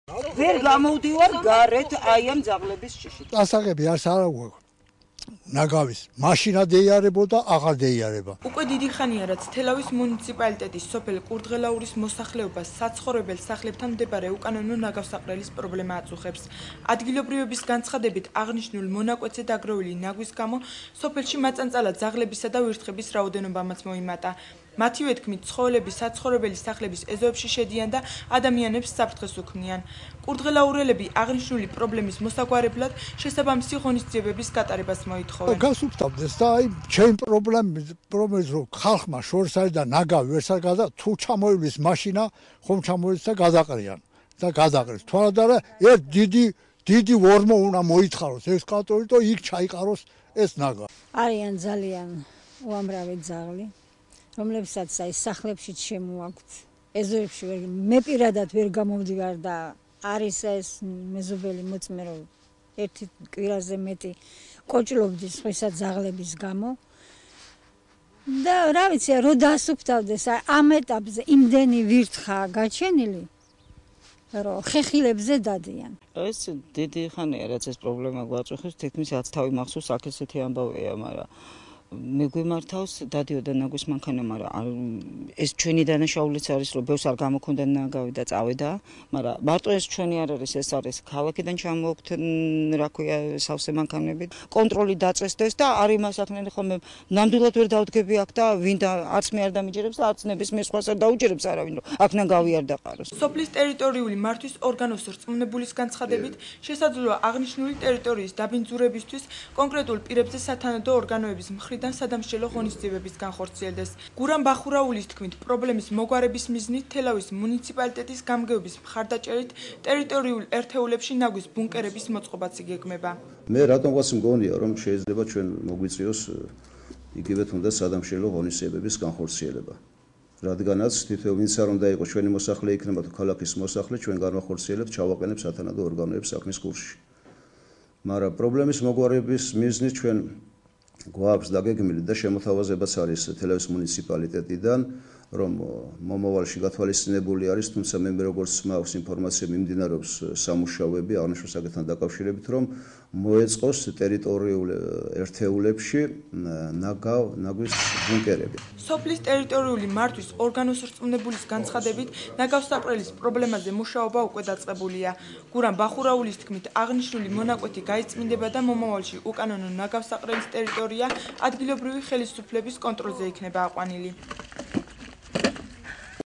ვერ გამოვდივარ გარეთ აი ამ ძაღლების შიშით. ასაღები არც არა გვაქვს. ნაგავის მაშინა დეიარებოდა, აღარ დეიარება. უკვე დიდი ხანია, რაც თელავის მუნიციპალიტეტის სოფელ კურდღელაურის მოსახლეობას საცხოვრებელ სახლებთან მდებარე უკანონო ნაგავსაყრელის პრობლემა აწუხებს. ადგილობრივების განცხადებით, აღნიშნულ მონაკვეთზე დაგროვილი ნაგვის გამო სოფელში მაწანწალად ძაღლებისა და ვირთხების რაოდენობამაც მოიმატა. მათივე თქმით, ცხოველები საცხოვრებელი სახლების ეზოებში შედიან და ადამიანებს საფრთხეს უქმნიან. კურდღელაურელები აღნიშნული პრობლემის მოსაგვარებლად შესაბამისი ღონისძიებების გატარებას მოითხოვენ. გასუფთავდეს და აი ჩემ პრობლემის რომ ხალხმა შორს არის და ნაგავი ვერსად გადა თუ ჩამოივლის მაშინა ხომ ჩამოივლის და გადაყრიან და გადაყრეს. თვალად არა ერთ დიდი ვორმო უნდა მოითხაროს ექსკავატორი და იქ ჩაიყაროს ეს ნაგავი. არიან ძალიან უამრავი ძაღლი, რომლებსაც აი სახლებში შემოაქვთ. ეზოებში მე პირადად ვერ გამოვდივარ და არის ეს მეზობელი მოწმე რომ ერთი კვირაზე მეტი კოჭლობდი სხვისა ძაღლების გამო. და რა ვიცი, რო დასუფთავდეს ამ ეტაპზე იმდენი ვირთხა გაჩენილი, რომ ხეხილებზე დადიან. ეს დიდი ხანია რაც ეს პრობლემა გვაწუხებს, თითქმის 10 თავი მახსოვს აქ ესეთი ამბავია, მაგრამ მე გვიმართავს დადიოდა ნაგვის მანქანა, მაგრამ ეს ჩვენი დანაშაულიც არის, რომ ბევრს არ გამოქონდა ნაგავი და წავედა, მაგრამ მარტო ეს ჩვენი არ არის, ეს არის ქალაქიდან ჩამოვაქვთ, რა ქვია, სავსე მანქანებით. კონტროლი დაწესდეს და არ იმას ახნენ ხოლმე ნამდვილად ვერ დავდგები აქ და ვინ და არც მე არ დამიჯერებს და არც ნებისმიერ სხვას არ დაუჯერებს არავინ, რომ აქ ნაგავი არ დაყაროს. სოფლის ტერიტორიული მართვის ორგანოს რწმუნებულის განცხადებით, შესაძლოა აღნიშნული ტერიტორიის დაბინძურებისთვის კონკრეტულ პირებზე სათანადო ორგანოების მხრიდან სადამსჯელო ღონისძიებების განხორციელდეს. გურამ ბახურაულის თქმით, პრობლემის მოგვარების მიზნით თელავის მუნიციპალიტეტის გამგეობის მხარდაჭერით ტერიტორიულ ერთეულებში ნაგვის ბუნკერების მოწყობაც იგეგმება. მე რატომღაც მგონია, რომ შეიძლება ჩვენ მოგვიწიოს იგივე თუნდაც სადამსჯელო ღონისძიებების განხორციელება. რადგანაც თითოეულ ვინც არ უნდა იყოს ჩვენი მოსახლე იქნება თუ ქალაქის მოსახლე, ჩვენ განვახორციელებთ, ჩავაყენებთ სათანადო ორგანოებს საქმის კურსში. მაგრამ პრობლემის მოგვარების მიზნით ჩვენ გვაქვს დაგეგმილი და შემოთავაზებაც არის თელავის მუნიციპალიტეტიდან, რომ მომავალში გათვალისწინებული არის, თუმცა მე როგორც მაქვს ინფორმაცია მიმდინარეობს სამუშაოები აღნიშნულ საკითხთან დაკავშირებით, რომ მოეწყოს ტერიტორიულ ერთეულებში ნაგვის ბუნკერები. სოფლის ტერიტორიული მართვის ორგანოს რწმუნებულის განცხადებით, ნაგავსაყრელის პრობლემაზე მუშაობა უკვე დაწყებულია. გურამ ბახურაულის თქმით, აღნიშნული მონაკვეთი გაიწმინდება და მომავალში უკანონო ნაგავსაყრელის ტერიტორია ადგილობრივი ხელისუფლების კონტროლზე იქნება აყვანილი.